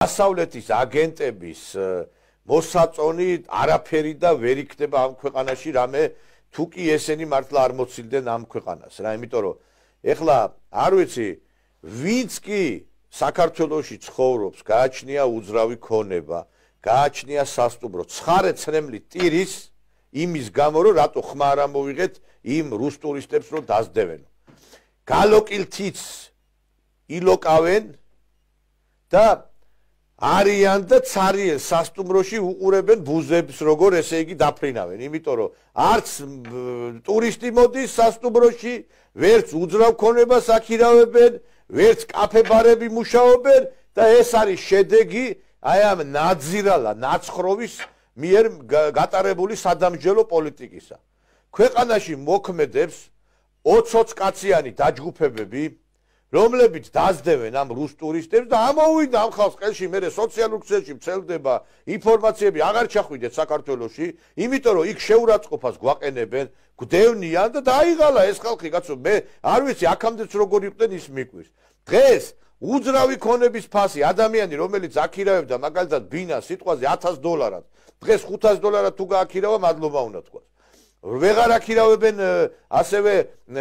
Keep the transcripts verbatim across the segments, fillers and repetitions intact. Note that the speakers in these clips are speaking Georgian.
დასავლეთის აგენტების მოსაწონი არაფერი და ვერ იქნება ამ ქვეყანაში რამე თუ კი ესენი მართლა არ მოცილდნენ ამ ქვეყანას რა იმიტომ რომ ეხლა არ ვიცი ვინც კი საქართველოში ცხოვრობს გააჩნია უძრავი ქონება გააჩნია სასტუმრო ცხარე ცრემლი ტირის იმის გამო რომ რატო ხმა არ ამოვიღეთ იმ რუს ტურისტებს რომ დასდევენ გალოკილთიც ილოკავენ და არიან და ცარიელ სასტუმროში უყურებენ ბუზებს როგორ ესე იგი დაფრინავენ იმიტომ რომ არც ტურისტი მოდის სასტუმროში ვერც უძრავ ქონებას აქირავებენ ვერც კაფე-ბარები მუშაობენ და ეს არის შედეგი აი ამ ნაძირალა ნაცხროვის მიერ გატარებული სადამსჯელო პოლიტიკისა ქვეყანაში მოქმედებს ოცი კაციანი დაჯგუფებები რომლებიც დასდევენ ამ რუს ტურისტებს და ამოვიდა ამ ხალხს ყელში მე სოციალურ ქსელში მცელდება ინფორმაციები აღარ ჩახვიდეთ საქართველოში იმიტომ რომ იქ შეურაცხყოფას გვაყენებენ გვდევნიან და დაიღალა ეს ხალხი კაცო მე არ ვიცი აქამდეც როგორ იყვნენ ის მიკვირს დღეს უძრავი ქონების ფასი ადამიანი რომელიც აქირავებდა მაგალითად ბინას სიტყვაზე ათას დოლარად დღეს ხუთას დოლარად თუ გააქირავა მადლობა უნდა თქვას ვეღარ აქირავებენ ასევე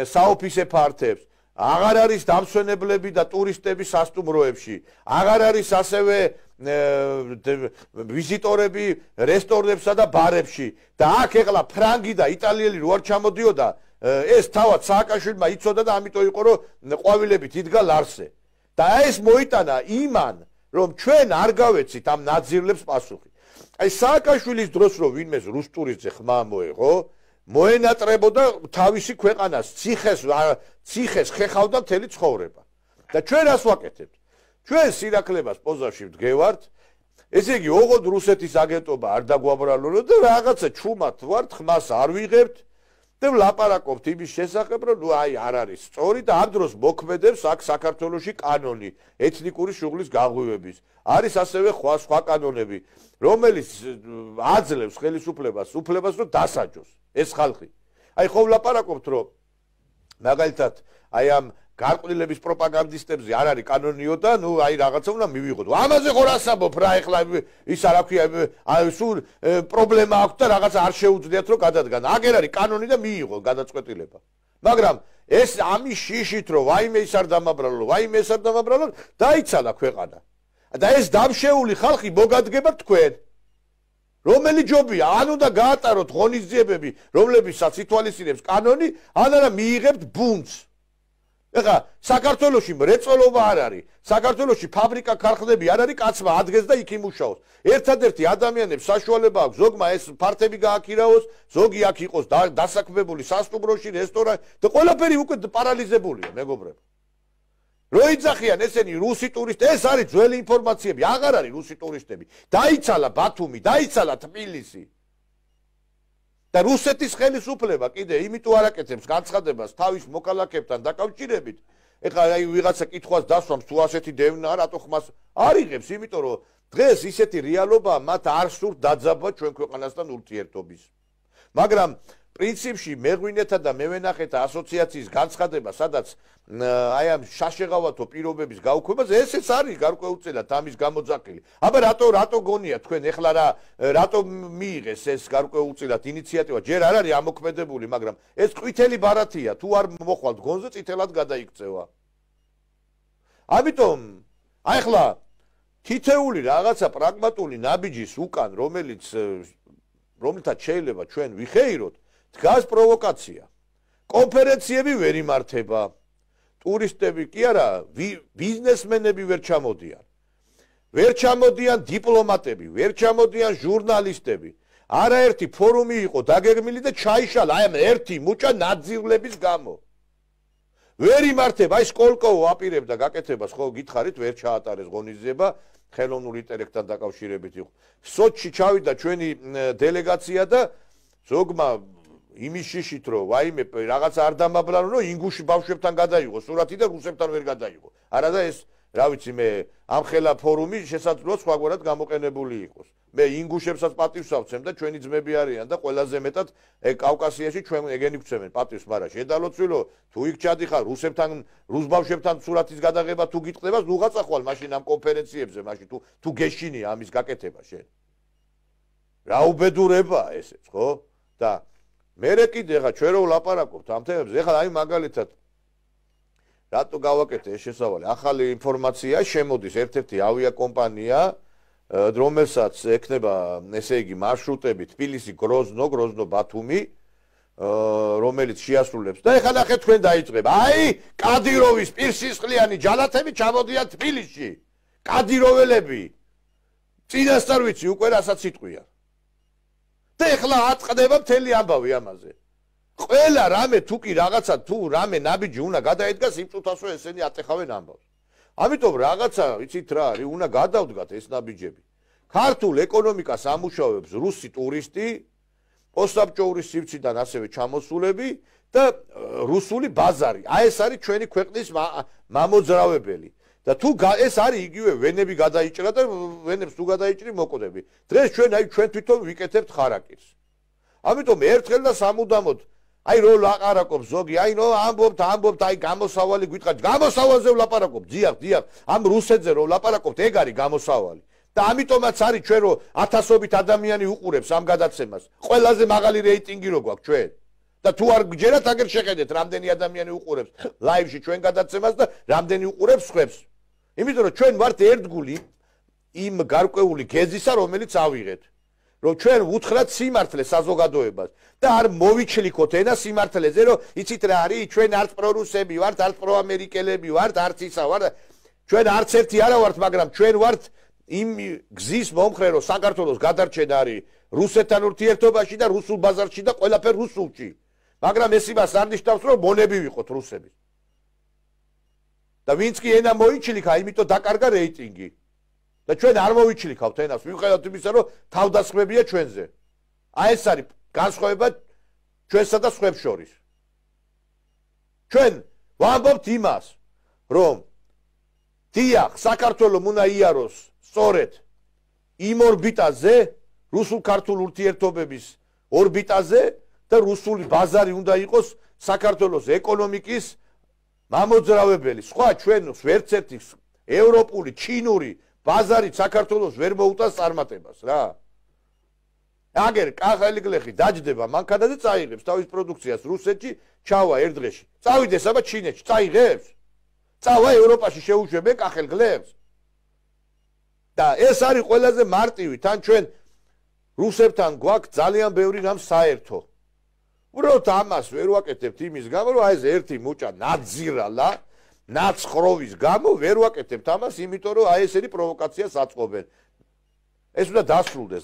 საოფისე ფართებს აღარ არის დამსვენებლები და ტურისტები სასტუმროებში აღარ არის ასევე ვიზიტორები რესტორნებსა და ბარებში და აქ ეხლა ფრანგი და იტალიელი რო არ ჩამოდიოდა ეს თავად სააკაშვილმა იცოდა და ამიტომ იყო რომ ყვავილებით იდგა ლარსე და ეს მოიტანა იმან რომ ჩვენ არ გავეცით ამ ნაძირლებს პასუხი აი სააკაშვილის დროს რო ვინმეს რუს ტურისტზე ხმა მოეღო მოენატრებოდა თავისი ქვეყანას ციხეს ციხეს ხეხავდა მთელი ცხოვრება და ჩვენ რას ვაკეთებთ ჩვენ სირაკლებას პოზაში ვდგევართ ესე იგი ოღონდ რუსეთის აგენტობა არ დაგვაბრალო და რაღაცა ჩუმად ვართ ხმას არ ვიღებთ და ვლაპარაკობთ იმის შესახებ რომ ნუ აი არ არის სწორი და ამ დროს მოქმედებს აქ საქართველოში კანონი ეთნიკური შუღლის გაღვივების არის ასევე სხვა სხვა კანონები რომელიც აძლევს ხელისუფლებას უფლებას რომ დასაჯოს ეს ხალხი აი ხო ვლაპარაკობთ რომ მაგალითად აი ამ გარყვნილების პროპაგანდისტებზე არ არის კანონიო და ნუ აი რაღაცა უნდა მივიღოთ ამაზე ხო რასაბობ რა ეხლა ის არ აქვს აი სულ პრობლემა აქვს და რაღაცა არ შეუძლიათ რომ გადადგან აგერ არის კანონი და მიიღო გადაწყვეტილება მაგრამ ეს ამის შიშით რომ ვაიმე ის არ დამაბრალო ვაიმე ეს არ დამაბრალო დაიცალა ქვეყანა და ეს დამშეული ხალხი მოგადგება თქვენ რომელი ჯობია ან უნდა გაატაროთ ღონისძიებები რომლებისაც ითვალისწინებს კანონი ან არა მიიღებთ ბუნდს ეხლა საქართველოში მრეწველობა არ არის საქართველოში ფაბრიკა ქარხნები არ არის კაცმა ადგეს და იქ იმუშაოს ერთადერთი ადამიანებს საშუალება აქვს ზოგმა ეს ფართები გააქირავოს ზოგი აქ იყოს დასაქმებული სასტუმროში რესტორანი და ყველაფერი უკვე პარალიზებულია მეგობრებო რო იძახიან ესენი რუსი ტურისტი ეს არის ძველი ინფორმაციები აღარ არის რუსი ტურისტები დაიცალა ბათუმი დაიცალა თბილისი და რუსეთის ხელისუფლება კიდე იმიტომ არ აკეთებს განცხადებას თავის მოქალაქეებთან დაკავშირებით ეხლა აი ვიღაცა კითხვას დასვამს თუ ასეთი დევნა რატო ხმას არ იღებს იმიტომ რომ დღეს ისეთი რეალობაა მათ არ სურთ დაძაბვა ჩვენ ქვეყანასთან ურთიერთობის მაგრამ პრინციპში მეღვინეთა და მევენახეთა ასოციაციის განცხადება სადაც აი ამ შაშეღავათო პირობების გაუქმებას ესეც არის გარკვეულწილად ამის გამოძახილი აბა რატო რატო გონია თქვენ ეხლა რა რატო მიიღეს ეს გარკვეულწილად ინიციატივა ჯერ არ არის ამოქმედებული მაგრამ ეს ყვითელი ბარათია თუ არ მოხვალთ გონზე წითელად გადაიქცევა ამიტომ აი ახლა თითეული რაღაცა პრაგმატული ნაბიჯის უკან რომელიც რომლითაც შეიძლება ჩვენ ვიხეიროთ დგას პროვოკაცია კონფერენციები ვერ იმართება ტურისტები კი არა ბიზნესმენები ვერ ჩამოდიან ვერ ჩამოდიან დიპლომატები ვერ ჩამოდიან ჟურნალისტები არაერთი ფორუმი იყო დაგეგმილი და ჩაიშალა აი ამ ერთი მუჭა ნაძირლების გამო ვერ იმართება აი სკოლკოვო აპირებდა გაკეთებას ხო გითხარით ვერ ჩაატარეს ღონისძიება ხელოვნურ ინტელექტთან დაკავშირებით იყო სოჩში ჩავიდა ჩვენი დელეგაცია და ზოგმა იმის შიშით რომ ვაიმე რაღაცა არ დამაბლანო რომ ინგუში ბავშვებთან გადაიღო სურათი და რუსებთან ვერ გადაიღო არა და ეს რა ვიცი მე ამ ხელა ფორუმი შესაძლოა სხვაგვარად გამოყენებული იყოს. მე ინგუშებსაც პატივს ავცემ და ჩვენი ძმები არიან და ყველაზე მეტად კავკასიაში ჩვენ ეგენი გვცემენ პატივს, მაგრამ შედალოცვილო თუ იქ ჩადიხარ რუსებთან, რუს ბავშვებთან სურათის გადაღება თუ გიტყდება, ნუ გაწახვალ მაშინ ამ კონფერენციებზე, მაშინ თუ თუ გეშინია ამის გაკეთება შენ. რა უბედურებაა ესეც, ხო? და მერე კიდე ხა ჩვენ რო ვლაპარაკობთ ამ თემებზე, ეხლა აი მაგალითად რატო გავაკეთე ეს შესავალი? ახალი ინფორმაცია შემოდის ერთ-ერთი ავიაკომპანია, რომელსაც ექნება, ესე იგი, მარშრუტები თბილისი, გროზნო, გროზნო, ბათუმი, რომელიც შეასრულებს. და ეხლა ნახეთ თქვენ დაიწყებ. აი, კადიროვის პირსისხლიანი ჯალათები ჩამოდიან თბილისში. კადიროველები. წინასწარ ვიცი უკვე რასაც იტყვიან. და ეხლა აწყდება მთელი ამბავი ამაზე. ყველა რამე თუ კი რაღაცა თუ რამე ნაბიჯი უნდა გადაედგას იმ წუთას რომ ესენი ატეხავენ ამბავს. ამიტომ რაღაცა იცით რა არის, უნდა გადავდგათ ეს ნაბიჯები. ქართულ ეკონომიკას ამუშავებს რუსი ტურისტი, პოსტსაბჭოური სივრციდან ასევე ჩამოსულები და რუსული ბაზარი. აი ეს არის ჩვენი ქვეყნის მამოძრავებელი. და თუ ეს არის იგივე ვენები გადაიჭრა და ვენებს თუ გადაიჭრი მოკვდები. დღეს ჩვენ აი ჩვენ თვითონ ვიკეთებთ ხარაკირს. ამიტომ ერთხელ და სამუდამოდ აი რო ლაპარაკობ ზოგი, აი ნო ამბობთ, ამბობთ, აი გამოსავალი გვითხრათ, გამოსავალზე ვლაპარაკობ, დიახ, დიახ, ამ რუსეთზე რო ვლაპარაკობთ, ეგ არის გამოსავალი. და ამიტომაც არის ჩვენ რო ათასობით ადამიანი უყურებს ამ გადაცემას. ყველაზე მაღალი რეიტინგი რო გვაქვს ჩვენ. და თუ არ გჯერათ, აგერ შეხედეთ, რამდენი ადამიანი უყურებს ლაივში ჩვენ გადაცემას და რამდენი უყურებს სხვებს. იმიტომ რომ ჩვენ ვართ ერთგული იმ გარკვეული გეზისა, რომელიც ავიღეთ. რომ ჩვენ უთხრათ სიმართლე საზოგადოებას და არ მოვიჩლიქოთ ენა სიმართლეზე, რომ იცით რა არის, ჩვენ არც პრორუსები ვართ, არც პროამერიკელები ვართ, არც ისა ვართ. ჩვენ არც ერთი არა ვართ, მაგრამ ჩვენ ვართ იმ გზის მომხრე, რომ საქართველოს გადარჩენა არის რუსეთთან ურთიერთობაში და რუსულ ბაზარში და ყველაფერ რუსულში. მაგრამ ეს იმას არ ნიშნავს, რომ მონები ვიყოთ რუსები. და ვინც კი ენა მოიჩლიქა, იმიტომ დაკარგა რეიტინგი. და ჩვენ არ მოვიჩლიქავთ ენას, მიუხედავად იმისა, რომ თავდასხმებია ჩვენზე. აი ეს არის განსხვავება ჩვენსა და სხვებს შორის. ჩვენ ვამბობთ იმას, რომ დიახ, საქართველოს უნდა იაროს სწორედ იმ ორბიტაზე, რუსულ-ქართულ ურთიერთობების ორბიტაზე და რუსული ბაზარი უნდა იყოს საქართველოს ეკონომიკის მამოძრავებელი. სხვა ჩვენს ვერც ერთი ევროპული, ჩინური ბაზარი საქართველოს ვერ მოუტანს წარმატებას რა. აგერ კახელი გლეხი დაჯდება მანქანაზე წაიღებს თავის პროდუქციას რუსეთში, ჩავა ერთ დღეში. წავიდეს აბა ჩინეთში, წაიღებს. წავა ევროპაში შეუშვებენ კახელ გლეხს. და ეს არის ყველაზე მარტივი, თან ჩვენ რუსებთან გვაქვს ძალიან ბევრი რამ საერთო. უბრალოდ ამას ვერ ვაკეთებთ იმის გამო, რომ აი ეს ერთი მუჭა ნაძირალა ნაცხროვის გამო ვერ ვაკეთებთ ამას, იმიტომ რომ აი ესენი პროვოკაციას აწყობენ. ეს უნდა დასრულდეს